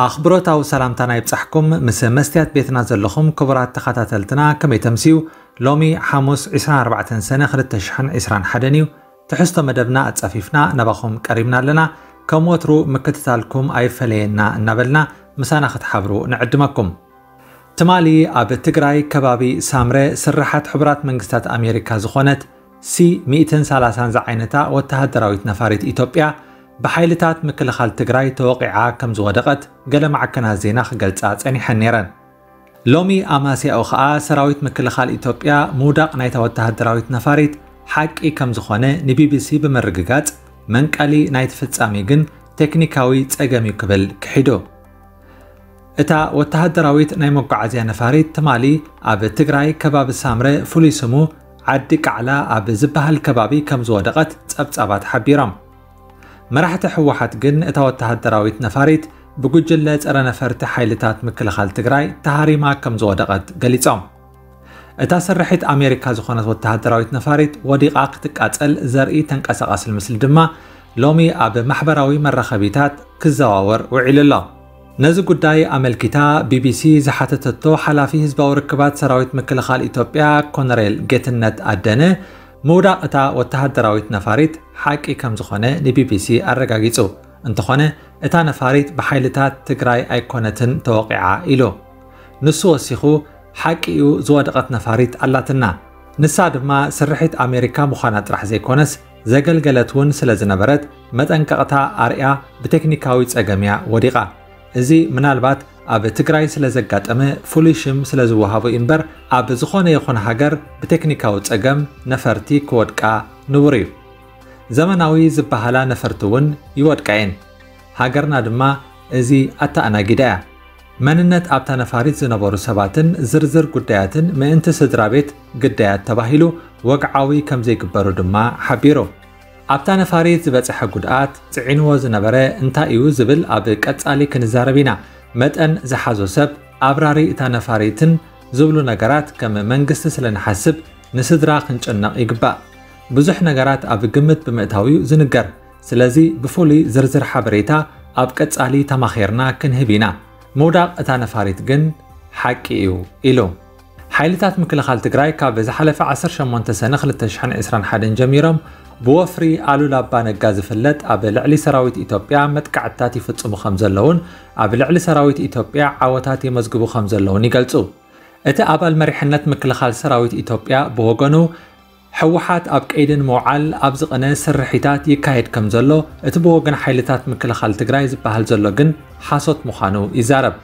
ኣኽብሮታዊ ሰላምታና ይብጻሕኩም። ምስ መስትያት ቤትና ዘለኹም ክቡራት ተኸታተልትና ከመይ ተምስዩ? ሎሚ ሓሙስ ዕስራን ኣርባዕተን ሰነ ክልተ ሽሕን ዕስራን ሓደን እዩ። ትሕዝቶ መደብና ኣጻፊፍና ናባኹም ቀሪብና ኣለና። ከም ወትሩ ምክትታልኩም ኣይፈለየና እናበልና ምሳና ክትሓብሩ ንዕድመኩም። ትማሊ ኣብ ትግራይ ከባቢ ሳምረ ስርሓት ሕቡራት መንግስታት ኣሜሪካ ዝኾነት ሲ ሚእትን ሰላሳን ዝዓይነታ ወተሃደራዊት ነፋሪት ኢትዮጵያ ብሓይልታት ምክልኻል ትግራይ ተወቒዓ ከም ዝወደቐት ገለ ማዕከናት ዜና ክገልጻ ጸኒሐን ነይረን። ሎሚ ኣማስያኡ ኸኣ ሰራዊት ምክልኻል ኢትዮጵያ ምውዳቕ ናይታ ወተሃደራዊት ነፋሪት ሓቂ ከም ዝኾነ ንቢቢሲ ብምርግጋጽ፣ መንቀሊ ናይቲ ፍጻሜ ግን ቴክኒካዊ ጸገም እዩ ክብል ክሒዱ። እታ ወተሃደራዊት ናይ መጓዓዝያ ነፋሪት ትማሊ ኣብ ትግራይ ከባቢ ሳምረ፣ ፍሉይ ስሙ ዓዲ ቃዕላ ኣብ ዝበሃል ከባቢ ከም ዝወደቐት ጸብጻባት ሓቢሮም። መራሕቲ ህወሓት ግን እታ ወተሃደራዊት ነፋሪት ብጉጅለ ጸረ ነፈርቲ ሓይልታት ምክልኻል ትግራይ ተሃሪማ ከም ዝወደቐት ገሊጾም። እታ ስርሒት ኣሜሪካ ዝኾነት ወተሃደራዊት ነፋሪት ወዲቓ ክትቃጸል ዘርኢ ተንቀሳቓሲ ምስሊ ድማ ሎሚ ኣብ ማሕበራዊ መራኸቢታት ክዘዋወር ውዒሉ ኣሎ። ነዚ ጉዳይ ኣመልኪታ ቢቢሲ ዝሓተተቶ ሓላፊ ህዝባዊ ርክባት ሰራዊት ምክልኻል ኢትዮጵያ ኮነሬል ጌትነት ኣደነ፣ ምውዳቕ እታ ወተሃደራዊት ነፋሪት ሓቂ ከም ዝኾነ ንቢቢሲ ኣረጋጊጹ። እንተኾነ፣ እታ ነፋሪት ብሓይልታት ትግራይ ኣይኮነትን ተወቒዓ ኢሉ። ንሱ ወሲኹ፣ ሓቂ እዩ ዝወደቐት ነፋሪት ኣላትና። ንሳ ድማ ስርሒት ኣሜሪካ ምዃና ጥራሕ ዘይኮነስ፣ ዘገልገለት እውን ስለ ዝነበረት፣ መጠንቀቕታ ኣርያ ብቴክኒካዊ ጸገም እያ ወዲቓ። እዚ ምናልባት ኣብ ትግራይ ስለ ዘጋጠመ ፍሉይ ሽም ስለ ዝወሃቦ እዩ እምበር፣ ኣብ ዝኾነ ይኹን ሃገር ብቴክኒካዊ ጸገም ነፈርቲ ክወድቃ ንቡር እዩ። ዘመናዊ ዝበሃላ ነፈርቲ እውን ይወድቃ እየን። ሃገርና ድማ እዚ ኣተኣናጊዳ እያ። መንነት ኣብታ ነፋሪት ዝነበሩ ሰባትን ዝርዝር ጉዳያትን ምእንቲ ስድራ ቤት ግዳያት ተባሂሉ ወግዓዊ ከም ዘይግበሩ ድማ ሓቢሩ። ኣብታ ነፋሪት ዝበጽሐ ጉድኣት፣ ጽዒንዎ ዝነበረ እንታይ እዩ ዝብል ኣብ ቀጻሊ ክንዛረብ ኢና። መጠን ዝሓዞ ሰብ፣ ኣብራሪ እታ ነፋሪትን ዝብሉ ነገራት ከም መንግስቲ ስለ ንሓስብ ንስድራ ክንጭነቕ ይግባእ። ብዙሕ ነገራት ኣብ ግምት ብምእታው እዩ ዝንገር። ስለዚ ብፍሉይ ዝርዝር ሓበሬታ ኣብ ቀጻሊ ተማኺርና ክንህብ ኢና። ምውዳቕ እታ ነፋሪት ግን ሓቂ እዩ ኢሉ። ሓይልታት ምክልኻል ትግራይ ካብ ዝሓለፈ ዓሰርተ ሸሞንተ ሰነ ክልተ ሽሕን ዕስራን ሓደን ጀሚሮም ብወፍሪ ኣሉላ ኣባ ነጋ ዝፍለጥ ኣብ ልዕሊ ሰራዊት ኢትዮጵያ መጥቃዕትታት ይፍጽሙ ከም ዘለውን ኣብ ልዕሊ ሰራዊት ኢትዮጵያ ዓወታት የመዝግቡ ከም ዘለውን ይገልጹ። እቲ ኣባል መሪሕነት ምክልኻል ሰራዊት ኢትዮጵያ ብወገኑ፣ ህወሓት ኣብ ቀይዲ ንምውዓል ኣብ ዝቐነ ስርሒታት ይካየድ ከም ዘሎ፣ እቲ ብወገን ሓይልታት ምክልኻል ትግራይ ዝበሃል ዘሎ ግን ሓሶት ምዃኑ ይዛረብ።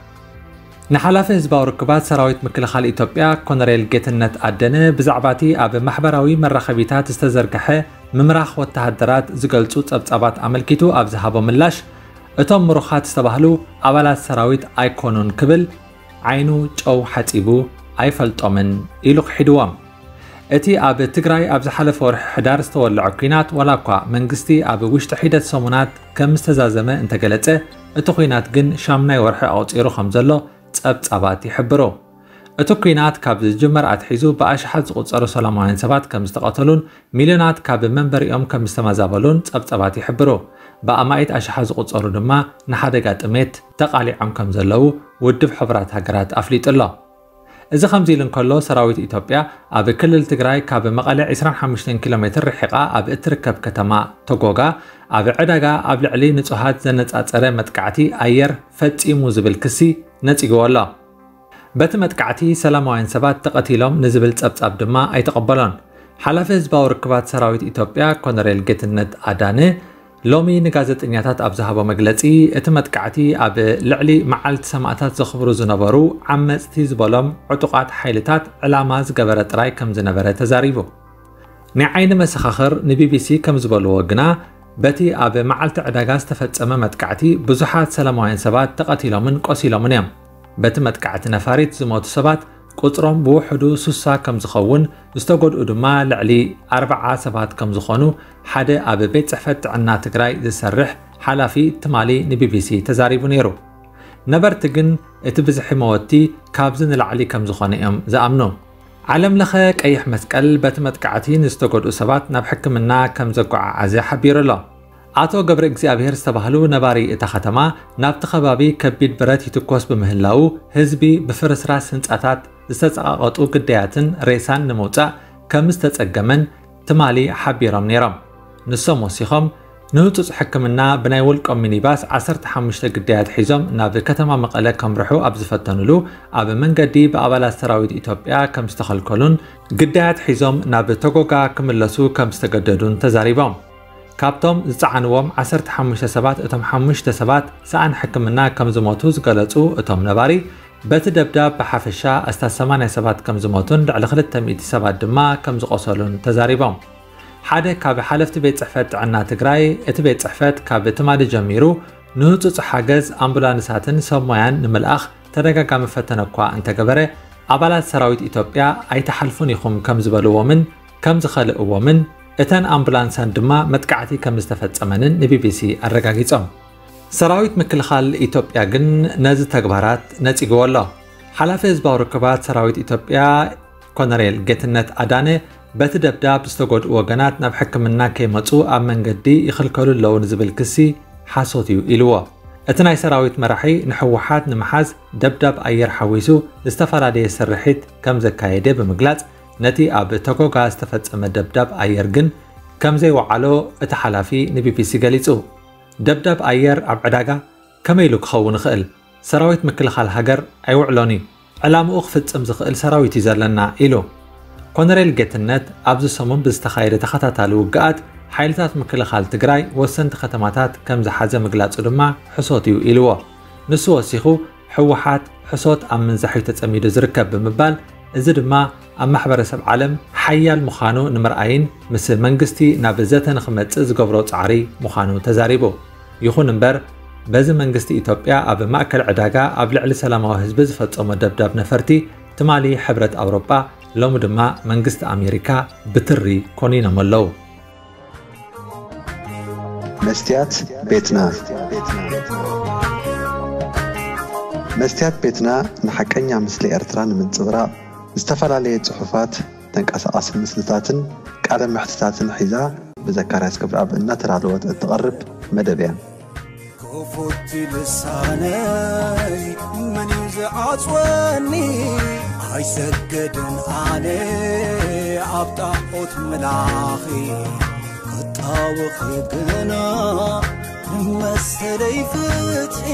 ንሓላፊ ህዝባዊ ርክባት ሰራዊት ምክልኻል ኢትዮጵያ ኮነሬል ጌትነት ኣደነ ብዛዕባ እቲ ኣብ ማሕበራዊ መራኸቢታት ዝተዘርግሐ ምምራኽ ወተሃደራት ዝገልጹ ጸብጻባት ኣመልኪቱ ኣብ ዝሃቦ ምላሽ፣ እቶም ምሩኻት ዝተባህሉ ኣባላት ሰራዊት ኣይኮኑን ክብል ዓይኑ ጨው ሓጺቡ ኣይፈልጦምን ኢሉ ክሒድዎም። እቲ ኣብ ትግራይ ኣብ ዝሓለፈ ወርሒ ሕዳር ዝተወልዐ ኲናት ዋላ እኳ መንግስቲ ኣብ ውሽጢ ሒደት ሰሙናት ከም ዝተዛዘመ እንተገለጸ፣ እቲ ኲናት ግን ሻምናይ ወርሒ ኣቑጺሩ ከም ዘሎ ጸብጻባት ይሕብሩ። እቲ ኲናት ካብ ዝጅመር ኣትሒዙ ብኣሽሓት ዝቑጸሩ ሰላማውያን ሰባት ከም ዝተቐተሉን ሚልዮናት ካብ መንበሪኦም ከም ዝተመዛበሉን ጸብጻባት ይሕብሩ። ብኣማኢት ኣሽሓት ዝቑጸሩ ድማ ንሓደጋ ጥሜት ተቓሊዖም ከም ዘለዉ ውድብ ሕቡራት ሃገራት ኣፍሊጡ ኣሎ። እዚ ከምዚ ኢሉ እንከሎ፣ ሰራዊት ኢትዮጵያ ኣብ ክልል ትግራይ ካብ መቐለ ዕስራን ሓሙሽተን ኪሎ ሜትር ርሒቓ ኣብ እትርከብ ከተማ ተጎጋ ኣብ ዕዳጋ ኣብ ልዕሊ ንጹሃት ዘነጻጸረ መጥቃዕቲ ኣየር ፈጺሙ ዝብል ክሲ ነጺግዎ ኣሎ። በቲ መጥቃዕቲ ሰላማውያን ሰባት ተቐቲሎም ንዝብል ጸብጻብ ድማ ኣይተቐበሎን። ሓላፊ ህዝባዊ ርክባት ሰራዊት ኢትዮጵያ ኮነሬል ጌትነት ኣዳነ ሎሚ ንጋዜጠኛታት ኣብ ዝሃቦ መግለጺ፣ እቲ መጥቃዕቲ ኣብ ልዕሊ መዓልቲ ሰማእታት ዘኽብሩ ዝነበሩ ዓመጽቲ ዝበሎም ዕጡቓት ሓይልታት ዕላማ ዝገበረ ጥራይ ከም ዝነበረ ተዛሪቡ። ናይ ዓይኒ መሰኻኽር ንቢቢሲ ከም ዝበልዎ ግና፣ በቲ ኣብ መዓልቲ ዕዳጋ ዝተፈጸመ መጥቃዕቲ ብዙሓት ሰላማውያን ሰባት ተቐቲሎምን ቆሲሎምን እዮም። በቲ መጥቃዕቲ ነፋሪት ዝሞቱ ሰባት ቁጽሮም ብውሕዱ ሱሳ ከም ዝኸውን፣ ዝተጎድኡ ድማ ልዕሊ ኣርብዓ ሰባት ከም ዝኾኑ ሓደ ኣብ ቤት ጽሕፈት ጥዕና ትግራይ ዝሰርሕ ሓላፊ ትማሊ ንቢቢሲ ተዛሪቡ ነይሩ። ነበርቲ ግን እቲ ብዝሒ መወቲ ካብዚ ንላዕሊ ከም ዝኾነ እዮም ዝኣምኑ። ዓለም ለኸ ቀይሕ መስቀል በቲ መጥቃዕቲ ንዝተጎድኡ ሰባት ናብ ሕክምና ከም ዘጓዓዓዘ ሓቢሩ ኣሎ። ኣቶ ገብረ እግዚኣብሔር ዝተባህሉ ነባሪ እታ ከተማ፣ ናብቲ ከባቢ ከቢድ ብረት ይትኮስ ብምህላዉ፣ ህዝቢ ብፍርስራስ ህንጻታት ዝተጸቓቐጡ ግዳያትን ሬሳን ንምውጻእ ከም ዝተጸገመን ትማሊ ሓቢሮም ነይሮም። ንሶም ወሲኾም፣ ንህጹጽ ሕክምና ብናይ ውልቆም ሚኒባስ ዓሰርተ ሓሙሽተ ግዳያት ሒዞም ናብ ከተማ መቐለ ከምርሑ ኣብ ዝፈተኑሉ፣ ኣብ መንገዲ ብኣባላት ሰራዊት ኢትዮጵያ ከም ዝተኸልከሉን ግዳያት ሒዞም ናብ ተጎጋ ክምለሱ ከም ዝተገደዱን ተዛሪቦም። ካብቶም ዝጸዓንዎም ዓሰርተ ሓሙሽተ ሰባት፣ እቶም ሓሙሽተ ሰባት ሰኣን ሕክምና ከም ዝሞቱ ዝገለጹ እቶም ነባሪ፣ በቲ ደብዳብ ብሓፈሻ ኣስታት ሰማንያ ሰባት ከም ዝሞቱን ልዕሊ ክልተ ሚእቲ ሰባት ድማ ከም ዝቖሰሉን ተዛሪቦም። ሓደ ካብ ሓለፍቲ ቤት ጽሕፈት ጥዕና ትግራይ፣ እቲ ቤት ጽሕፈት ካብ ትማሊ ጀሚሩ ንህጹጽ ሓገዝ ኣምቡላንሳትን ሰብ ሞያን ንምልኣኽ ተደጋጋሚ ፈተነ እኳ እንተገበረ፣ ኣባላት ሰራዊት ኢትዮጵያ ኣይትሓልፉን ኢኹም ከም ዝበልዎምን ከም ዝኸልእዎምን፣ እተን ኣምቡላንሳን ድማ መጥቃዕቲ ከም ዝተፈጸመንን ንቢቢሲ ኣረጋጊጾም። ሰራዊት ምክልኻል ኢትዮጵያ ግን ነዚ ተግባራት ነጺግዎ ኣሎ። ሓላፊ ህዝባዊ ርክባት ሰራዊት ኢትዮጵያ ኮነሬል ጌትነት ኣዳነ፣ በቲ ደብዳብ ዝተጎድኡ ወገናት ናብ ሕክምና ከይመጹ ኣብ መንገዲ ይኽልከሉ ኣለዉ ንዝብል ክሲ ሓሶት እዩ ኢልዎ። እቲ ናይ ሰራዊት መራሒ ንህወሓት ንምሓዝ ደብዳብ ኣየር ሓዊሱ ዝተፈላለየ ስርሒት ከም ዘካየደ ብምግላጽ፣ ነቲ ኣብ ተጎጋ ዝተፈጸመ ደብዳብ ኣየር ግን ከም ዘይወዓሎ እቲ ሓላፊ ንቢቢሲ ገሊጹ። ደብዳብ ኣየር ኣብ ዕዳጋ ከመይ ኢሉ ክኸውን ይኽእል? ሰራዊት ምክልኻል ሃገር ኣይውዕሎን እዩ። ዕላምኡ ክፍጽም ዝኽእል ሰራዊት እዩ ዘለና ኢሉ። ኮነሬል ጌትነት ኣብዚ ሰሙን ብዝተኻየደ ተኸታታሊ ውግኣት ሓይልታት ምክልኻል ትግራይ ወሰንቲ ከተማታት ከም ዝሓዘ ምግላጹ ድማ ሕሶት እዩ ኢልዎ። ንሱ ወሲኹ፣ ህወሓት ሕሶት ኣብ ምንዛሕ እዩ ተጸሚዱ ዝርከብ ብምባል፣ እዚ ድማ ኣብ ማሕበረሰብ ዓለም ሓያል ምዃኑ ንምርኣይን ምስ መንግስቲ ናብ ዘተ ንኽመጽእ ዝገብሮ ጻዕሪ ምዃኑ ተዛሪቡ። ይኹን እምበር፣ በዚ መንግስቲ ኢትዮጵያ ኣብ ማእከል ዕዳጋ ኣብ ልዕሊ ሰላማዊ ህዝቢ ዝፈጸሞ ደብዳብ ነፈርቲ ትማሊ ሕብረት ኣውሮጳ፣ ሎሚ ድማ መንግስቲ ኣሜሪካ ብትሪ ኮኒኖም ኣለዉ። መስትያት ቤትና። መስትያት ቤትና ንሓቀኛ ምስሊ ኤርትራ ንምንጽብራቕ፣ ዝተፈላለየ ጽሑፋት፣ ተንቀሳቓሲ ምስልታትን ቃለ መሕትታትን ሒዛ ብዘካርያስ ክብረኣብ እናተዳለወት እትቐርብ መደብ እያ። ክፉት ልሳነይ መን እዩ ዝዓጽወኒ? ኣይሰገድን ኣነ ኣብ ጣዖት ምላኺ፣ ክጣወኺ ግና ንመሰለይ ፍትሒ።